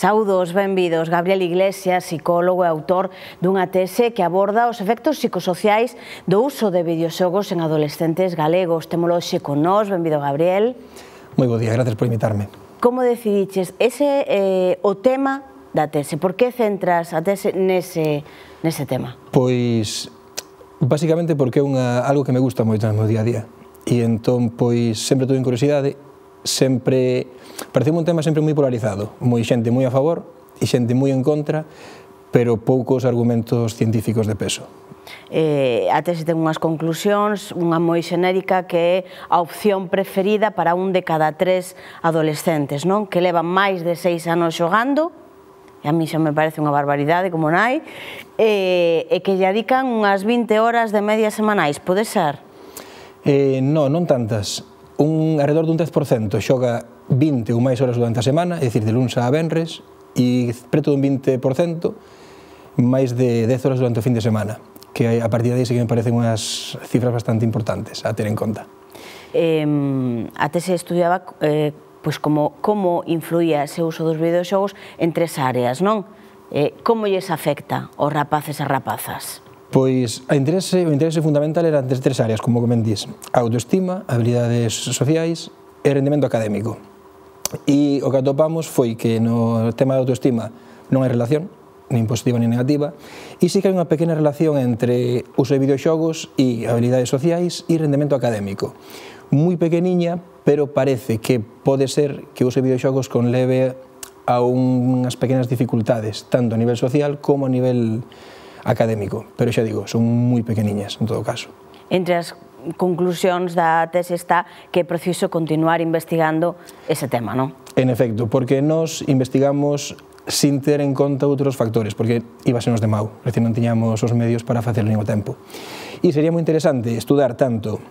Saúdos, benvidos. Gabriel Iglesias, psicólogo e autor dunha tese que aborda os efectos psicosociais do uso de videoxogos en adolescentes galegos. Témolo hoxe con nós. Benvido, Gabriel. Moi bo día, gracias por invitarme. Como decidiches ese o tema da tese? Por que centras a tese nese tema? Pois, basicamente porque é algo que me gusta moito no meu día a día. E entón, pois, sempre tuve curiosidade, sempre pareceu un tema sempre moi polarizado, moi xente moi a favor e xente moi en contra, pero poucos argumentos científicos de peso. A tese ten unhas conclusións, unha moi xenérica que é a opción preferida para un de cada 3 adolescentes, non? Que levan máis de 6 anos xogando, e a mí xa me parece unha barbaridade como nai, e que lle dedican unhas 20 horas de media semanais, pode ser? Non tantas. Alrededor dun 10% xoga 20 ou máis horas durante a semana, é dicir, de luns a venres, e preto dun 20% máis de 10 horas durante o fin de semana, que a partir de aí sí que me parecen unhas cifras bastante importantes a ter en conta. A tese estudiaba como influía ese uso dos videoxogos en 3 áreas, non? Como lles afecta aos rapaces e rapazas? Pois o interese fundamental era entre 3 áreas, como comentís: a autoestima, habilidades sociais e rendemento académico. E o que atopamos foi que no tema da autoestima non hai relación, nin positiva nin negativa, e sí que hai unha pequena relación entre uso de videoxogos e habilidades sociais e rendemento académico. Moi pequeniña, pero parece que pode ser que o uso de videoxogos conleve a unhas pequenas dificultades, tanto a nivel social como a nivel académico, pero xa digo, son moi pequeniñas en todo caso. Entre as conclusións da tese está que é preciso continuar investigando ese tema, non? En efecto, porque nos investigamos sin ter en conta outros factores, porque íbasenos de mau, é dicir, non tiñamos os medios para facerlo ao tempo. E sería moi interesante estudar tanto,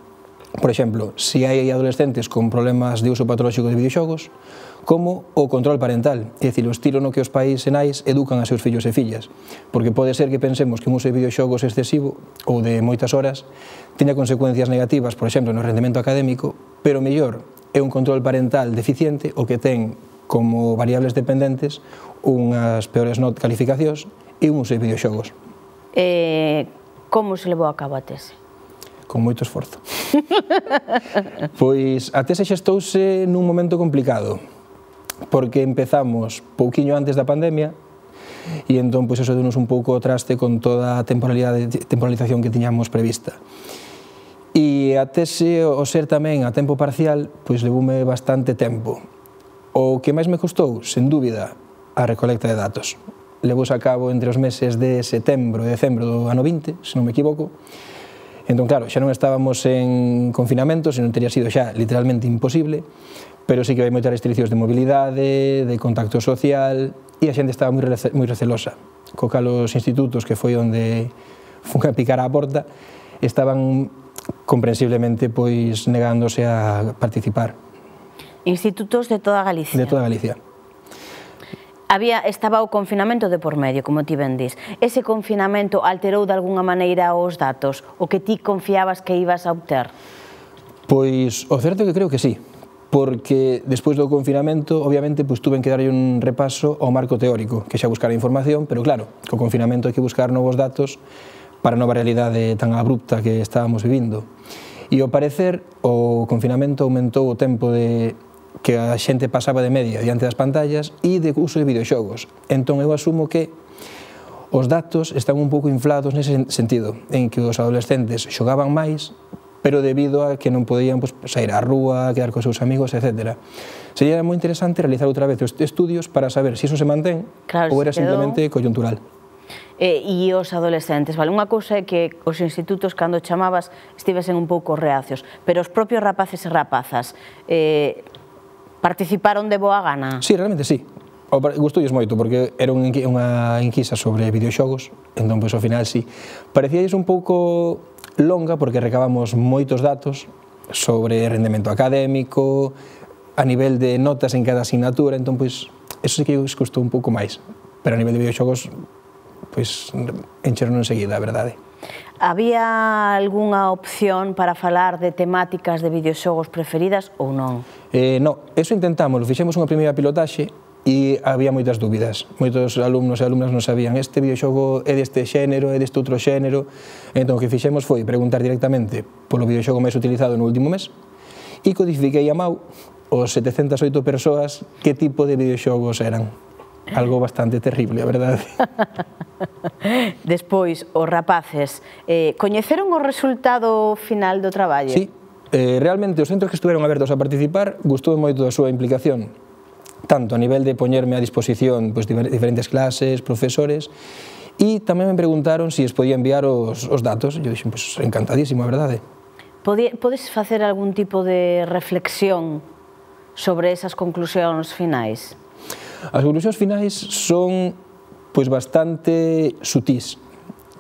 por exemplo, se hai adolescentes con problemas de uso patolóxico de videoxogos, como o control parental, é dicir, o estilo no que os pais e nais educan a seus fillos e fillas, porque pode ser que pensemos que un uso de videoxogos excesivo ou de moitas horas teña consecuencias negativas, por exemplo, no rendemento académico, pero mellor é un control parental deficiente o que ten como variables dependentes unhas peores calificacións e un uso de videoxogos. Como se levou a cabo a tese? Con moito esforzo. Pois a tese xestouse nun momento complicado, porque empezamos pouquiño antes da pandemia e entón pois eso deunos un pouco o traste con toda a temporalización que tiñamos prevista. E a tese, o ser tamén a tempo parcial, pois levoume bastante tempo. O que máis me custou, sen dúbida, a recolecta de datos. Levouse a cabo entre os meses de setembro e decembro do ano 20, se non me equivoco. Entón, claro, xa non estábamos en confinamento, senón teria sido xa literalmente imposible, pero sí que hai moitas restriccións de mobilidade, de contacto social, e a xente estaba moi recelosa. Co cal os institutos, que foi onde fun a picar á porta, estaban comprensiblemente pois negándose a participar. Institutos de toda Galicia? De toda Galicia. Estaba o confinamento de por medio, como ti ben dis. Ese confinamento alterou de alguna maneira os datos, o que ti confiabas que ibas a obter? Pois o certo é que creo que sí, porque despois do confinamento, obviamente, tuve que darlle un repaso ao marco teórico, que xa buscar a información, pero claro, co confinamento hai que buscar novos datos para a nova realidade tan abrupta que estábamos vivindo. E ao parecer, o confinamento aumentou o tempo que a xente pasaba de media diante das pantallas e de uso de videoxogos. Entón eu asumo que os datos están un pouco inflados nese sentido, en que os adolescentes xogaban máis, pero debido a que non podían sair á rúa, quedar cos seus amigos, etc. Sería moi interesante realizar outra vez os estudios para saber se iso se mantén ou era simplemente coyuntural. E os adolescentes, vale? Unha cousa é que os institutos, cando chamabas, estivesen un pouco reacios, pero os propios rapaces e rapazas participaron de boa gana? Sí, realmente sí. Gustoulles moito, porque era unha enquisa sobre videoxogos, entón, pois, ao final, sí. Parecíalles un pouco longa, porque recabamos moitos datos sobre rendemento académico, a nivel de notas en cada asignatura, entón, pois, eso sí que os custou un pouco máis. Pero a nivel de videoxogos, pois, encheron enseguida, a verdade. Había algunha opción para falar de temáticas de videoxogos preferidas ou non? Non, eso intentamos, fixemos unha primeira pilotaxe e había moitas dúbidas. Moitos alumnos e alumnas non sabían este videoxogo é deste xénero, é deste outro xénero. Entón, o que fixemos foi preguntar directamente polo videoxogo máis utilizado no último mes e codifiquei a mau os 708 persoas que tipo de videoxogos eran. Algo bastante terrible, a verdade. Despois, os rapaces, coñeceron o resultado final do traballo? Sí, realmente os centros que estuveron abertos a participar gustou moito a súa implicación, tanto a nivel de poñerme a disposición diferentes clases, profesores, e tamén me preguntaron se es podía enviar os datos. Eu dixen, pois encantadísimo, a verdade. Podes facer algún tipo de reflexión sobre esas conclusións finais? As conclusións finais son bastante sutís.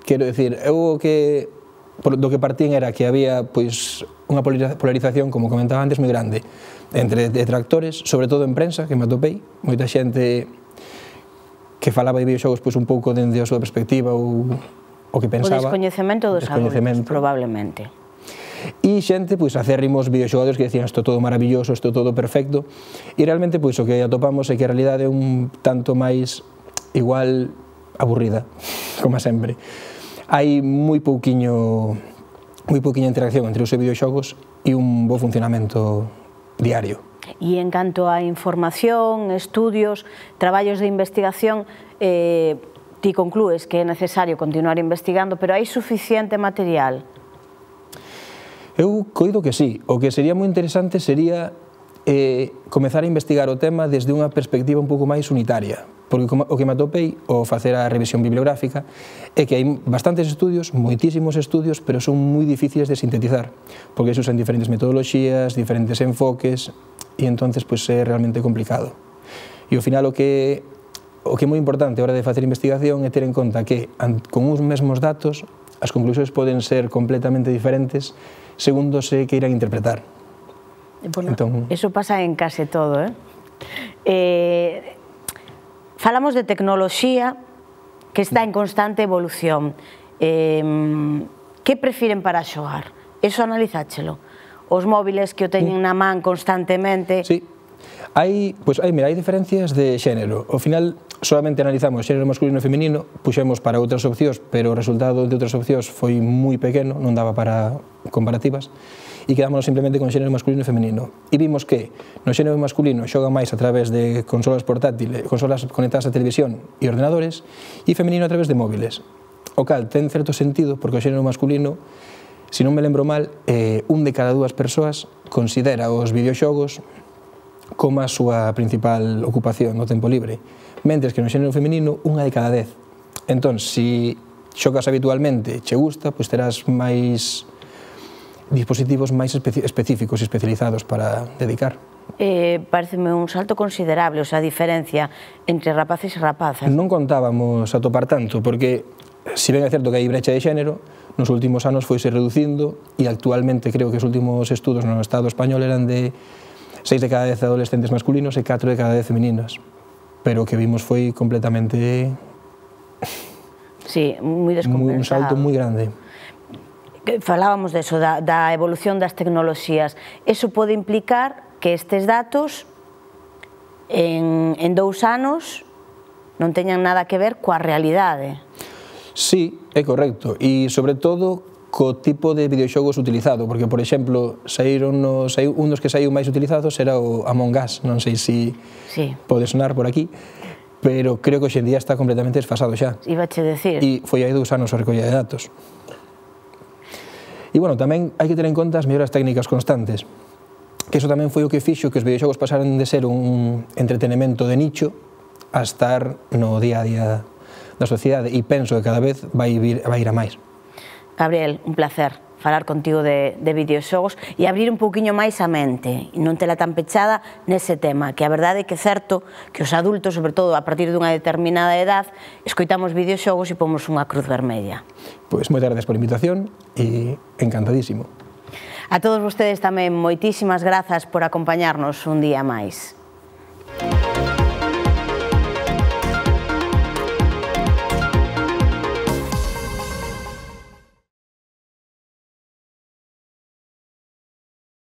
Quero dicir, eu do que partín era que había unha polarización, como comentaba antes, moi grande entre detractores, sobre todo en prensa, que me atopei, moita xente que falaba de videoxogos un pouco dende a súa perspectiva ou o que pensaba. O descoñecemento dos adultos, probablemente. E xente, acérrimos videoxogadores que decían isto todo maravilloso, isto todo perfecto, e realmente o que atopamos é que a realidade é un tanto máis igual aburrida, como sempre. Hai moi pouquiña interacción entre os videoxogos e un bo funcionamento diario. E en canto a información, estudios, traballos de investigación, ti conclúes que é necesario continuar investigando, pero hai suficiente material? Eu coido que sí. O que sería moi interesante sería comezar a investigar o tema desde unha perspectiva un pouco máis unitaria, porque o que me atopei ao facer a revisión bibliográfica é que hai bastantes estudios, moitísimos estudios, pero son moi difíciles de sintetizar, porque se usan diferentes metodoloxías, diferentes enfoques, e entonces é realmente complicado. E ao final o que é moi importante a hora de facer investigación é ter en conta que con uns mesmos datos as conclusións poden ser completamente diferentes segundo se queiran interpretar. Eso pasa en case todo. Falamos de tecnoloxía que está en constante evolución. Que prefiren para xogar? Eso analizáchelo? Os móviles que o teñen na man constantemente... Sí. Hai diferencias de xénero. Ao final, solamente analizamos xénero masculino e feminino, puxemos para outras opcións, pero o resultado de outras opcións foi moi pequeno, non daba para comparativas, e quedámonos simplemente con xénero masculino e feminino. E vimos que no xénero masculino xoga máis a través de consolas portátiles, consolas conectadas a televisión e ordenadores, e feminino a través de móviles. O cal ten certo sentido, porque o xénero masculino, se non me lembro mal, un de cada dúas persoas considera os videoxogos como a súa principal ocupación no tempo libre, mentres que no xénero feminino, unha de cada 10. Entón, se xogas habitualmente, che gusta, terás máis dispositivos máis específicos e especializados para dedicar. Pareceme un salto considerable, a diferencia entre rapaces e rapazas. Non contábamos atopar tanto, porque se ben é certo que hai brecha de xénero, nos últimos anos foise reducindo e actualmente creo que os últimos estudos no Estado español eran de 6 de cada 10 adolescentes masculinos e 4 de cada 10 femininas. Pero o que vimos foi completamente... Sí, moi descompensado. Un salto moi grande. Falábamos deso, da evolución das tecnoloxías. Eso pode implicar que estes datos en 2 anos non teñan nada que ver coa realidade. Sí, é correcto. E, sobre todo, co tipo de videoxogos utilizado, porque, por exemplo, un dos que saiu máis utilizados era o Among Us, non sei se pode sonar por aquí, pero creo que hoxendía está completamente desfasado xa. Ibache decir. E foi hai 2 anos a recolla de datos. E, tamén hai que ter en conta as melloras técnicas constantes, que iso tamén foi o que fixo que os videoxogos pasaran de ser un entretenimento de nicho a estar no día a día da sociedade, e penso que cada vez vai ir a máis. Gabriel, un placer falar contigo de videoxogos e abrir un pouquiño máis a mente e non tela tan pechada nese tema, que a verdade é que é certo que os adultos, sobre todo a partir dunha determinada edad, escoitamos videoxogos e pomos unha cruz vermella. Pois moitas gracias por a invitación e encantadísimo. A todos vostedes tamén moitísimas grazas por acompañarnos un día máis.